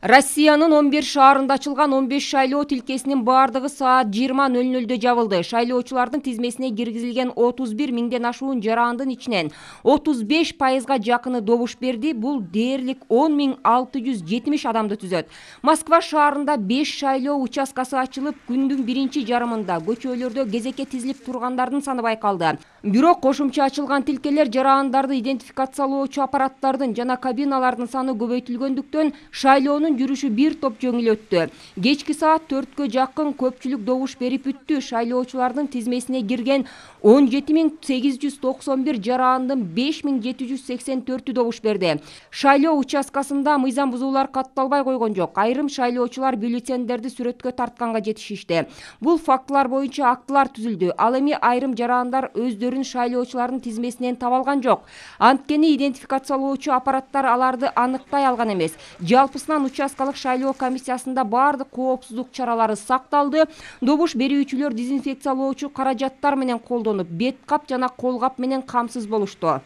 Россиянын 11 шаарында ачылган 15 шайлоо тилкесинин бардыгы саат 20:00 жабылды. Шайлоочулардын тизмесине киргизилген 31 миңден ашуун жарандын ичинен 35%га жакыны добуш берди. Бул дээрлик 10.670 адамды түзөт. Москва шаарында 5 шайлоо участкасы ачылып, күндүн биринчи жарымында көчөлөрдө кезекке тизилип тургандардын саны байкалды. Бирок кошумча ачылган тилкелер жарандарды идентификациялоочу аппараттардын жана кабиналардын саны көбөйтүлгөндүктөн шайлоонун жүрүшү бир топ жеңил өттү. Кечки саат 4кө жакын көпчүлүк добуш берип бүттү. Шайлоочулардын тизмесине кирген 17.891 жарандын 5.784 добуш берди. Шайлоо участкасында мыйзам бузуулар катталбай койгон жок. Айрым шайлоочулар бюллетендерди сүрөткө тартканга жетишишти. Бул фактылар боюнча актылар түзүлдү. Ал эми айрым жарандар өздөрүн шайлоочулардын тизмесинен таба алган жок. Анткени идентификациялоочу аппараттар аларды аныктай алган эмес. Жалпысынан участкалык шайлоо комиссиясында бардык коопсуздук чаралары сакталды. Добуш берүүчүлөр дезинфекциялоочу каражаттар менен колдонуп, бет кап жана кол кап менен камсыз болушту.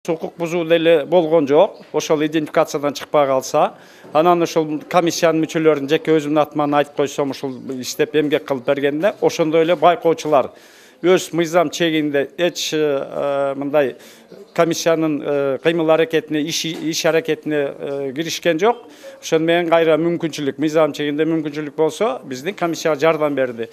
Укук бузуу деле болгон жок. Ошол идентификациядан чыкпай калса, анан ошол комиссиянын мүчөлөрүн жеке өзүмдүн атыман айтып койсом, ошол иштеп эмгек кылып бергенде, ошондой эле байкоочулар өз мыйзам чегинде эч мындай комиссиянын кыймыл аракетине, иш аракетине киришкен жок. Ошону менен кайра мүмкүнчүлүк, мыйзам чегинде мүмкүнчүлүк болсо, биздин комиссияга жардам берди.